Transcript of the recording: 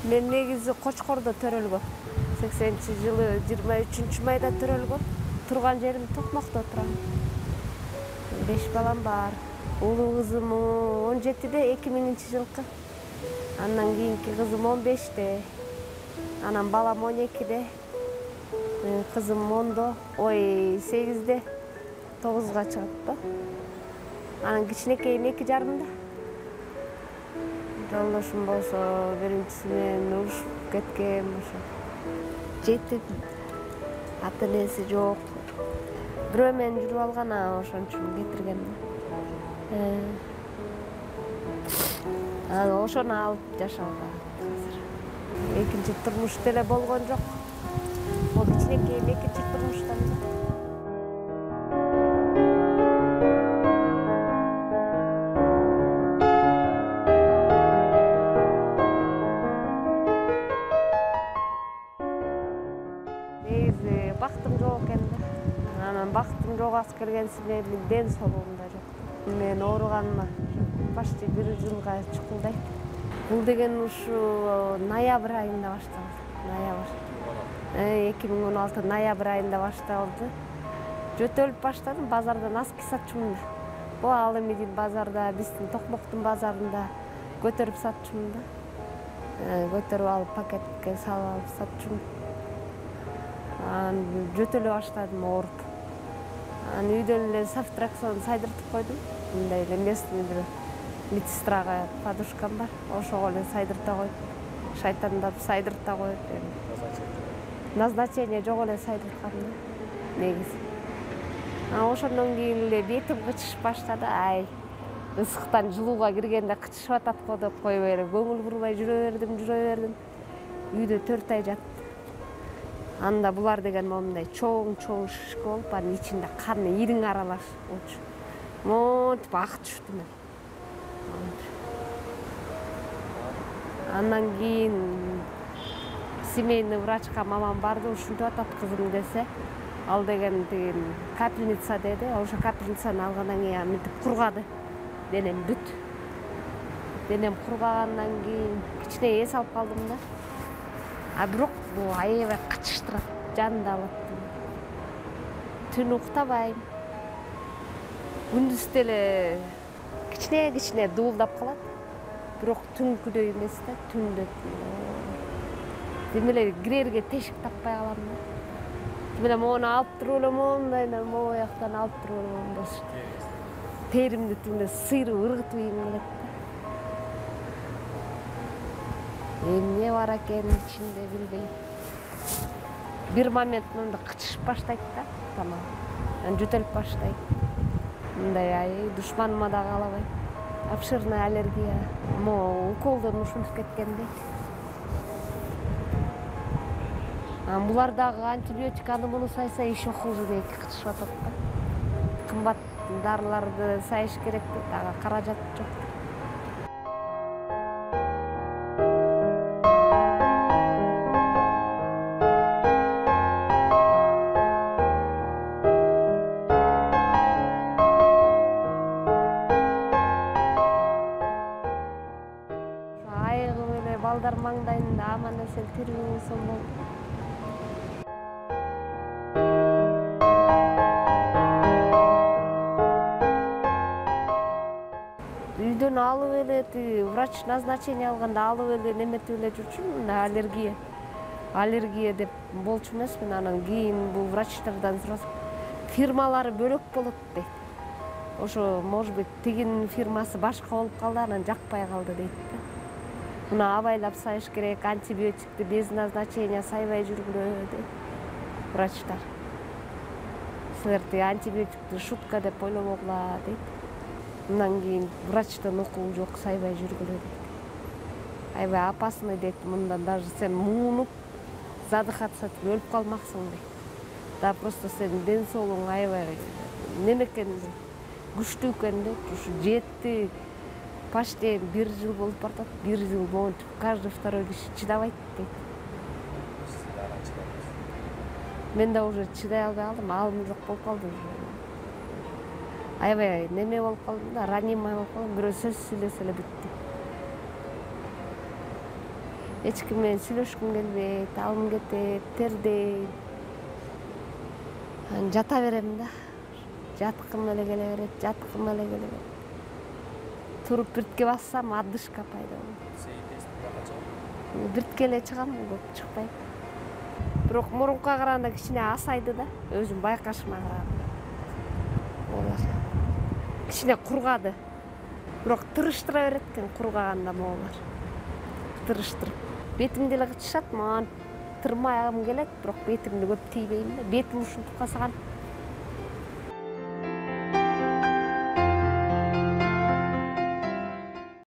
Мен негизи Кочкордо төрөлгөм. 80-жылы 23-майда төрөлгөм. Турган жерим Токмокто турам. 5 балам бар. Улуу кызым 17-де 2000-жылкы. Андан кийинки кызым 15-те. Анан балам 12-де. Кызым 10-до, 8-де. 9-га чыгат да. Анан кичинекейим 2,5-да. Жолдошум болсо биринчиси менен урушуп кеткен ошо. Жетим. Ата-энеси жок. Бирөө менен жүрүп алган, ошон үчүн кетирген да. Ошону алып жашауда азыр. Экинчи турмуш деле болгон жок. Ол кичинекейим экинчи турмуштан да. Негизи бактым жок экен да. Анан бактым жогасы келгенси менен ден соолугум да жок. Мен ооруганыма почти 1 жылга чукулдайт. Бул деген ушу ноябрь айында башталды. Ноябрь. 2016 ноябрь айында башталды. Жөтөлүп баштадым, базардан аски сатчумун. Бул ал эми базарда, биздин Токмоктун базарында көтөрүп сатчумун да. Көтөрүп алып пакетке салып алып сатчумун. Жөтөлө баштадым ооруп. Үйдөн эле сафтраксон сайдыртып койдум. Мындай эле местный бир медсестрага подушкам бар. Ошого эле сайдырта коюп, шайтандап сайдырта коюп. Назначение жок эле сайдырткам да. Негизи. Ошондон кийин эле бетим кычышып баштады. Ысыктан жылууга киргенде кычышып атат го деп койбой эле көңүл бурбай жүрө бердим. Үйдө 4 ай жаттым. Анда булар деген момундай чоң шишке болуп, анын ичинде каны ириң аралаш болчу. Монтип ак түштү мен. Андан кийин семейный врачка мамам барды, ушинтип атат кызым десе, ал деген капельница деди. Ошо капельницаны алгандан кийин мынтип кургады. Денем бүт. Денем кургагандан кийин кичине эс алып калдым да. Бирок бул аябай кычыштырат, жанды алат. Түн уктабайм. Күндүз деле кичине дуулдап калат. Бирок түнкүдөй эмес да, түндө. Демеле кирерге тешик таппай калам да. Демеле мону алып туруп эле моундайдан могу жактан алып туруп эле моундайчы. Теримди тимде сыйрып ыргытып ийгим келет да. Эмне бар экенин ичинде билбейм. Бир момент мындай кычышып баштайт да, тамак. Анан жөтөлүп баштайт. Мындай душманыма да каалабайм. Обширная аллергия. Уколдон ушинтип кеткенде. Булар дагы антибиотик аны муну сайса еще хуже дейт, кычышып атат да. Кымбат дарыларды сайыш керек дейт, ага каражат жок. Айыгым эле балдар маңдайында аман-эсен тирүү болсом болду. Үйдөн алып эле врач назначение алганда алып эле неметип эле жүрчүмүн, аллергия деп болчу эмесмин. Анан кийин бул врачтардан сурасам, фирмалары бөлөк болот дейт. Ошо, может быть, тигинин фирмасы башка болуп калды, анан жакпай калды дейт да. Муну абайлап сайыш керек, антибиотикти без назначения сайбай жүргүлө дейт врачтар. Силер антибиотикти шутка деп ойлобогула дейт. Мындан кийин врачтын укугу жок, сайбай жүргүлө дейт. Аябай опасный дейт, мындан даже сен муунуп, задыхаться этип өлүп калмаксың дейт. Да просто сенин ден соолугуң аябай неме экен, күчтүү экен дейт. Ушу жетти, почти 1 жыл болуп бартат. 1 жыл монтип каждый второй киши чыдабайт дейт. Мен да уже чыдай албай калдым, алым жок болуп калды. Аябай неме болуп калдым да, ранимый болуп калдым, бирөө сөз сүйлөсө эле бүттү. эч ким менен сүйлөшкүм келбейт, алым кетет, тердейм. Анан жата берем да. Жаткым эле келе берет. Туруп биртке бассам отдышка пайда болот. Биртке эле чыгам, көп чыкпайм. Бирок мурункуга караганда кичине асайды да, өзүм байкашыма караганда. Олар кичине кургады. Бирок тырыштыра берет экен кургаганда моулар. Тырыштырып. Бетимди эле кычышат, мага тырмагым келет, бирок бетимди көп тийбейм да. Бетим ушинтип калса кантип